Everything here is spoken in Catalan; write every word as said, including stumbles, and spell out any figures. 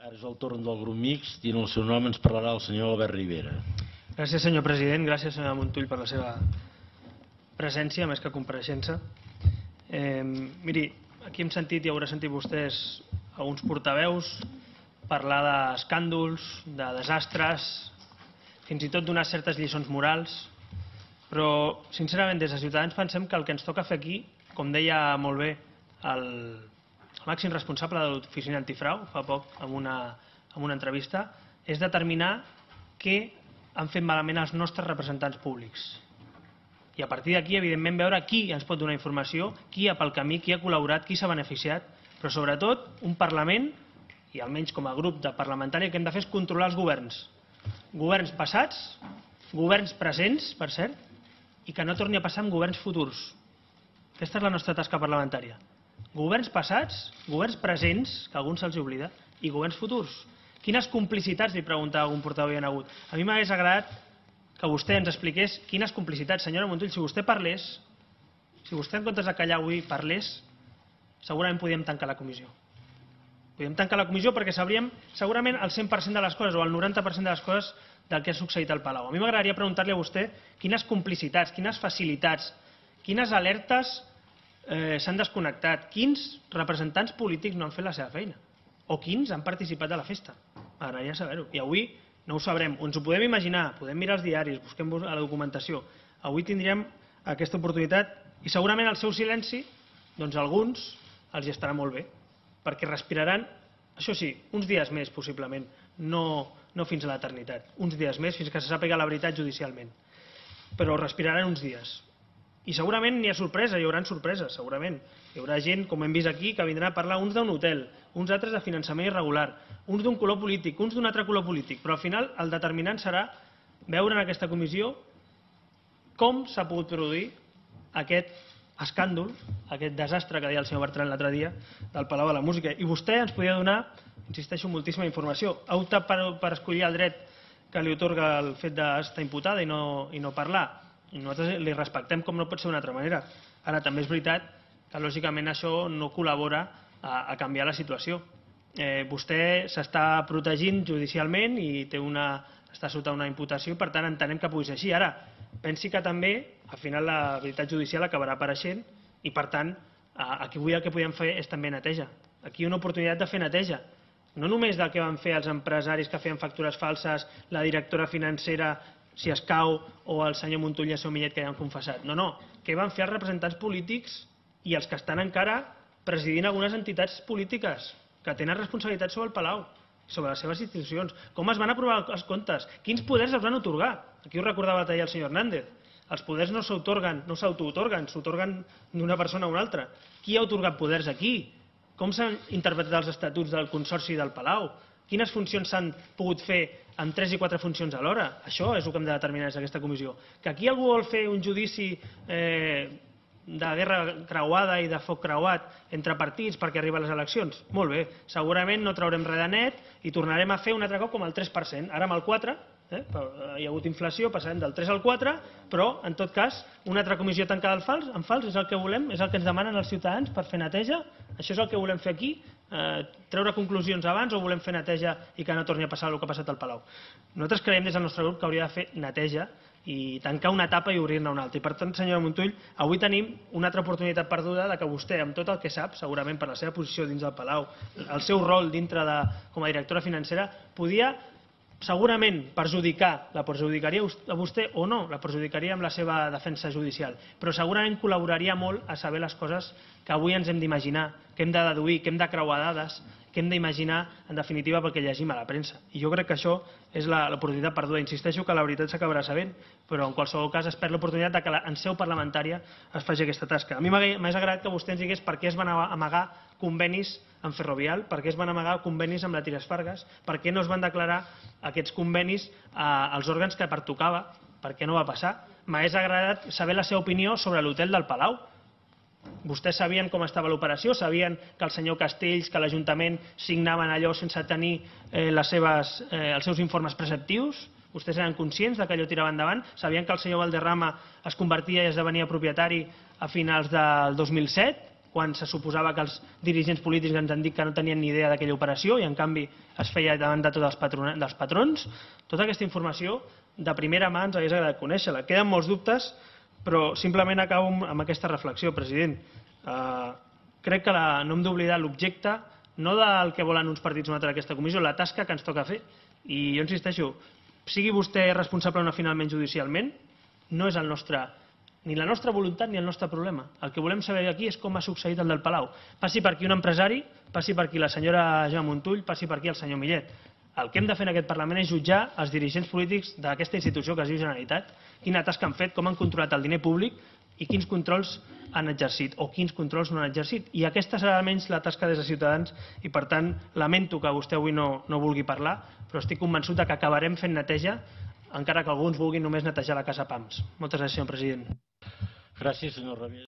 Ara és el torn del grup mixt i en el seu nom ens parlarà el senyor Albert Rivera. Gràcies, senyor president. Gràcies, senyor Montull, per la seva presència, més que compareixença. Eh, miri, aquí hem sentit i haurà sentit vostès alguns portaveus parlar d'escàndols, de desastres, fins i tot donar certes lliçons morals, però, sincerament, des de Ciutadans pensem que el que ens toca fer aquí, com deia molt bé el el màxim responsable de l'Oficina Antifrau fa poc en una, en una entrevista, és determinar què han fet malament els nostres representants públics. I a partir d'aquí, evidentment, veure qui ens pot donar informació, qui ha pel camí, qui ha col·laborat, qui s'ha beneficiat, però sobretot un Parlament, i almenys com a grup de parlamentari, el que hem de fer és controlar els governs. Governs passats, governs presents, per cert, i que no torni a passar amb governs futurs. Aquesta és la nostra tasca parlamentària. Governs passats, governs presents, que a alguns se'ls oblida, i governs futurs. Quines complicitats, li preguntava algun portaveu, hi ha hagut? A mi m'hagués agradat que vostè ens expliqués quines complicitats. Senyora Montull, si vostè parlés, si vostè en comptes de callar avui parlés, segurament podíem tancar la comissió. Podíem tancar la comissió perquè sabríem segurament el cent per cent de les coses o el noranta per cent de les coses del que ha succeït al Palau. A mi m'agradaria preguntar-li a vostè quines complicitats, quines facilitats, quines alertes Eh, s'han desconnectat, quins representants polítics no han fet la seva feina o quins han participat de la festa. M'agradaria saber-ho. I avui no ho sabrem. Ens ho podem imaginar, podem mirar els diaris, busquem a la documentació. Avui tindríem aquesta oportunitat i segurament el seu silenci, doncs a alguns els hi estarà molt bé, perquè respiraran, això sí, uns dies més possiblement, no, no fins a l'eternitat, uns dies més fins que se sàpiga la veritat judicialment, però respiraran uns dies. I segurament n'hi ha sorpresa, hi haurà sorpreses, segurament. Hi haurà gent, com hem vist aquí, que vindrà a parlar uns d'un hotel, uns altres de finançament irregular, uns d'un color polític, uns d'un altre color polític, però al final el determinant serà veure en aquesta comissió com s'ha pogut produir aquest escàndol, aquest desastre que deia el senyor Bertran l'altre dia del Palau de la Música. I vostè ens podia donar, insisteixo, moltíssima informació. Ha optat per, per escollir el dret que li otorga el fet d'estar imputada i no, i no parlar. I nosaltres li respectem com no pot ser d'una altra manera. Ara, també és veritat que lògicament això no col·labora a, a canviar la situació. Eh, vostè s'està protegint judicialment i té una, està sota una imputació, per tant entenem que pugui ser així. Ara, pensi que també al final la veritat judicial acabarà apareixent i per tant aquí avui el que podem fer és també neteja. Aquí hi ha una oportunitat de fer neteja. No només del que van fer els empresaris que feien factures falses, la directora financera si escau, o el senyor Montull i el seu Millet que ja han confessat. No, no. Què van fer els representants polítics i els que estan encara presidint algunes entitats polítiques que tenen responsabilitat sobre el Palau, sobre les seves institucions? Com es van aprovar els comptes? Quins poders els van atorgar? Aquí ho recordava l'altre dia el senyor Hernández. Els poders no s'autorguen, no s'autoatorguen, s'autorguen d'una persona a una altra. Qui ha atorgat poders aquí? Com s'han interpretat els estatuts del Consorci del Palau? Quines funcions s'han pogut fer amb tres i quatre funcions alhora? Això és el que hem de determinar des d'aquesta comissió. Que aquí algú vol fer un judici eh, de guerra creuada i de foc creuat entre partits perquè arriba a les eleccions? Molt bé, segurament no traurem res de net i tornarem a fer un altre cop com el tres per cent. Ara amb el quatre per cent, eh, hi ha hagut inflació, passarem del tres al quatre, però en tot cas una altra comissió tancada en fals, en fals és el que volem, és el que ens demanen els ciutadans per fer neteja. Això és el que volem fer aquí, eh, treure conclusions abans o volem fer neteja i que no torni a passar el que ha passat al Palau? Nosaltres creiem des del nostre grup que hauria de fer neteja i tancar una etapa i obrir-ne una altra. I per tant, senyora Montull, avui tenim una altra oportunitat perduda de que vostè, amb tot el que sap, segurament per la seva posició dins del Palau, el seu rol dintre de, com a directora financera, podia segurament perjudicar, la perjudicaria a vostè o no, la perjudicaria amb la seva defensa judicial, però segurament col·laboraria molt a saber les coses que avui ens hem d'imaginar, que hem de deduir, que hem de creuar dades, que hem d'imaginar, en definitiva, perquè llegim a la premsa. I jo crec que això és l'oportunitat perduda. Insisteixo que la veritat s'acabarà sabent, però en qualsevol cas es perd l'oportunitat que en seu parlamentària es faci aquesta tasca. A mi m'hagués agradat que vostè ens digués per què es van amagar convenis amb Ferrovial, per què es van amagar convenis amb la Trias Fargas, per què no es van declarar aquests convenis als òrgans que pertocava, per què no va passar. M'hagués agradat saber la seva opinió sobre l'hotel del Palau. Vostès sabien com estava l'operació, sabien que el senyor Castells, que l'Ajuntament signaven allò sense tenir eh, les seves, eh, els seus informes preceptius? Vostès eren conscients que allò tirava endavant? Sabien que el senyor Valderrama es convertia i esdevenia propietari a finals del dos mil set? quan se suposava que els dirigents polítics ens han dit que no tenien ni idea d'aquella operació i en canvi es feia davant de tots els patrons, dels patrons. Tota aquesta informació de primera mà ens hagués agradat conèixer-la. Queden molts dubtes, però simplement acabo amb aquesta reflexió, president. Uh, crec que la, no hem d'oblidar l'objecte, no del que volen uns partits o un altre d'aquesta comissió, la tasca que ens toca fer. I jo insisteixo, sigui vostè responsable o no finalment judicialment, no és el nostre, ni la nostra voluntat ni el nostre problema. El que volem saber aquí és com ha succeït el del Palau. Passi per aquí un empresari, passi per aquí la senyora Gemma Montull, passi per aquí el senyor Millet. El que hem de fer en aquest Parlament és jutjar els dirigents polítics d'aquesta institució que es diu Generalitat, quina tasca han fet, com han controlat el diner públic i quins controls han exercit o quins controls no han exercit. I aquesta serà almenys la tasca des de Ciutadans i, per tant, lamento que vostè avui no, no vulgui parlar, però estic convençut que acabarem fent neteja, encara que alguns vulguin només netejar la casa Pams. Moltes gràcies, senyor president. Gràcies, senyor Ramis.